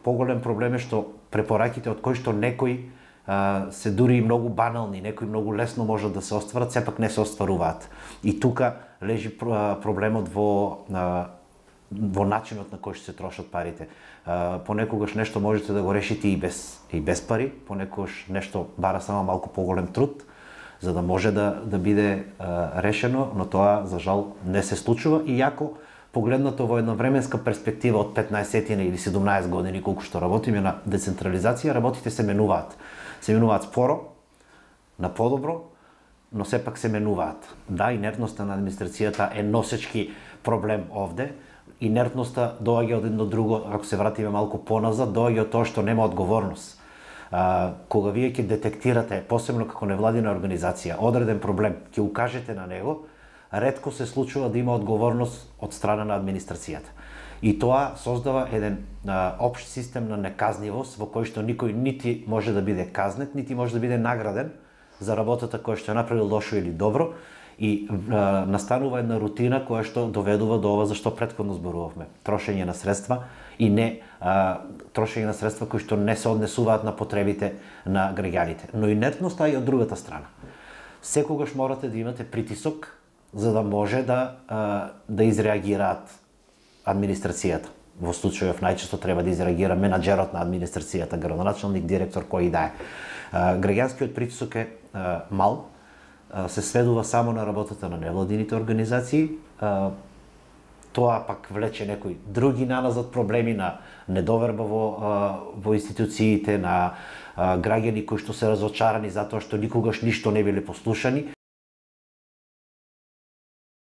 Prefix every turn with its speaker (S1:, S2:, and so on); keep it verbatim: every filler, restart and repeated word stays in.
S1: Поголем проблем е што препораките од кои што некои а, се дури и многу банални, некои многу лесно можат да се остварат, сепак не се остваруваат. И тука лежи проблемот во а, во начинот на кој што се трошат парите. А, понекогаш нешто можете да го решите и без и без пари, понекогаш нешто бара само малку поголем труд за да може да да биде а, решено, но тоа за жал не се случува, и јако погледнато во една временска перспектива од петнаесет или седумнаесет години колку што работиме на децентрализација, работите се менуваат. Се менуваат споро, на подобро, но сепак се менуваат. Да, инертноста на администрацијата е носечки проблем овде. Инертноста доаѓа од едно друго, ако се вратиме малку поназад, доаѓа од тоа што нема одговорност. А, кога вие ќе детектирате, посебно како невладина организација, одреден проблем, ќе укажете на него, ретко се случува да има одговорност од страна на администрацијата. И тоа создава еден а, општ систем на неказнивост во кој што никој нити може да биде казнет, нити може да биде награден за работата која што е направил лошо или добро, и а, настанува една рутина која што доведува до ова за што претходно зборувавме. Трошење на средства и не а, трошење на средства кои што не се однесуваат на потребите на граѓаните. Но инертноста е и од другата страна. Секогаш морате да имате притисок за да може да а, да изреагираат администрацијата. Во случајов најчесто треба да изреагира менаџерот на администрацијата, градоначалник, директор, кој и да е. А, граѓанскиот притисок е а, мал, а, се сведува само на работата на невладините организации. А, тоа пак влече некои други наназад проблеми на недоверба во, а, во институциите, на а, граѓани кои што се разочарани затоа што никогаш ништо не биле послушани.